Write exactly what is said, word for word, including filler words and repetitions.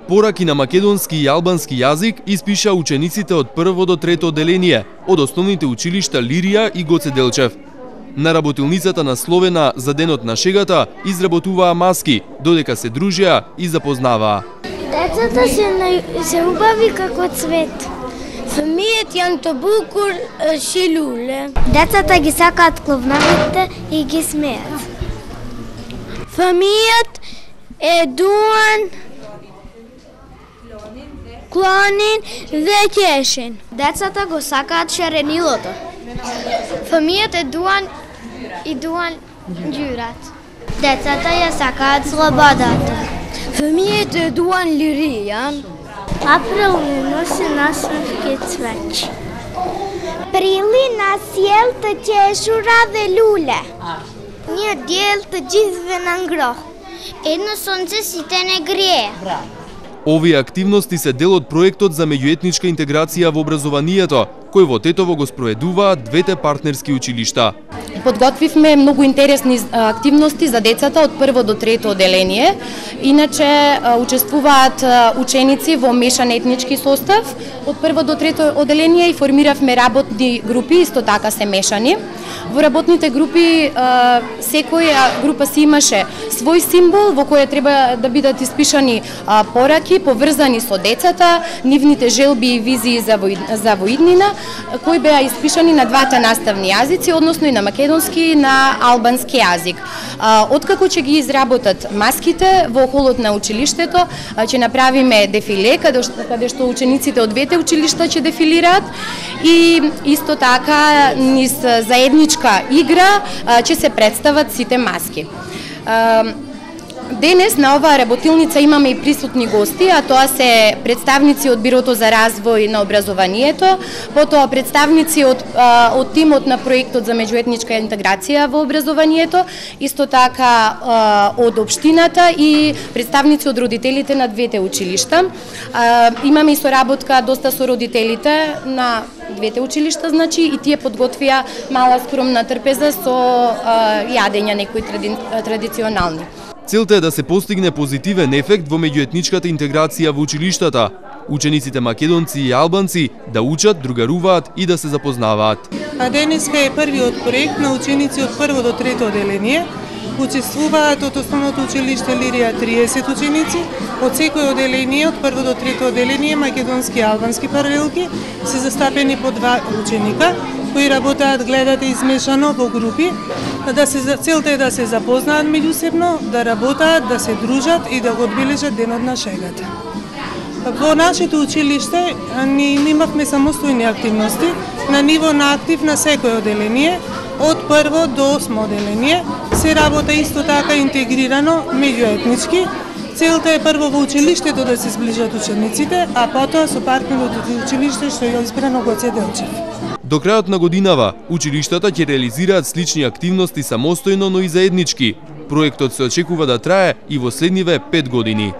Пораки на македонски и албански јазик испиша учениците од прво до трето одделение од основните училишта Лирија и Гоце Делчев. На работилницата насловена за Денот на шегата изработуваа маски, додека се дружеа и запознаваа. Децата се, на... се убави како цвет. Фамијат јан тобукур шилуле. Децата ги сакаат кловнавите и ги смеат. Фамијат е дуан клонин векешен. Децата го сакаат шаренилото. Фамијат е дуан и дуан ѓурат. Децата ја сакаат слободата. Фамијат е дуан лиријан. Април носи насмевки цвеќ. Прили на сјелта чешура велуле. Ние диелта џизвенан грох. Едно сонце сите не грие. Овие активности се дел од проектот за меѓуетничка интеграција во образованието, кој во Тетово го спроведуваат двете партнерски училишта. Подготвивме многу интересни активности за децата од прво до трето одделение. Иначе учествуваат ученици во мешан етнички состав од прво до трето одделение и формиравме работни групи, исто така се мешани. Во работните групи секоја група си имаше свој символ во кој треба да бидат испишани пораки поврзани со децата, нивните желби и визии за за воиднина, кои беа испишани на двата наставни јазици, односно и на македонски и на албански јазик. Откако ќе ги изработат маските во холот на училиштето, ќе направиме дефиле каде што, каде што учениците од двете училишта ќе дефилираат и исто така низ заедничка игра ќе се представат сите маски. Денес на оваа работилница имаме и присутни гости, а тоа се представници од Бирото за развој на образованието, потоа представници од, од тимот на проектот за меѓуетничка интеграција во образованието, исто така од општината и представници од родителите на двете училишта. Имаме и соработка доста со родителите на двете училишта, значи и тие подготвија мала скромна трпеза со јадења некои тради, традиционални. Целта е да се постигне позитивен ефект во меѓуетничката интеграција во училиштата. Учениците македонци и албанци да учат, другаруваат и да се запознаваат. А денеска е првиот проект на ученици од прво до трето одделение. Учествуваат од основното училиште Лирија триесет ученици, од секој одделение од прво до трето одделение македонски и албански паралелки се застапени по два ученика кои работаат, гледате, измешано во групи. Да се целта е да се запознаат меѓусебно, да работаат, да се дружат и да го одбележат Денот на шегата. Во нашето училиште ние имавме самостојни активности на ниво на актив на секој одделение, од прво до осмо одделение. Се работа исто така интегрирано меѓуетнички. Целта е прво во училиштето да се сближат учениците, а потоа со партнерот од училиште што е избрано Гоце Делчев. До крајот на годинава, училиштата ќе реализираат слични активности самостојно, но и заеднички. Проектот се очекува да трае и во следниве пет години.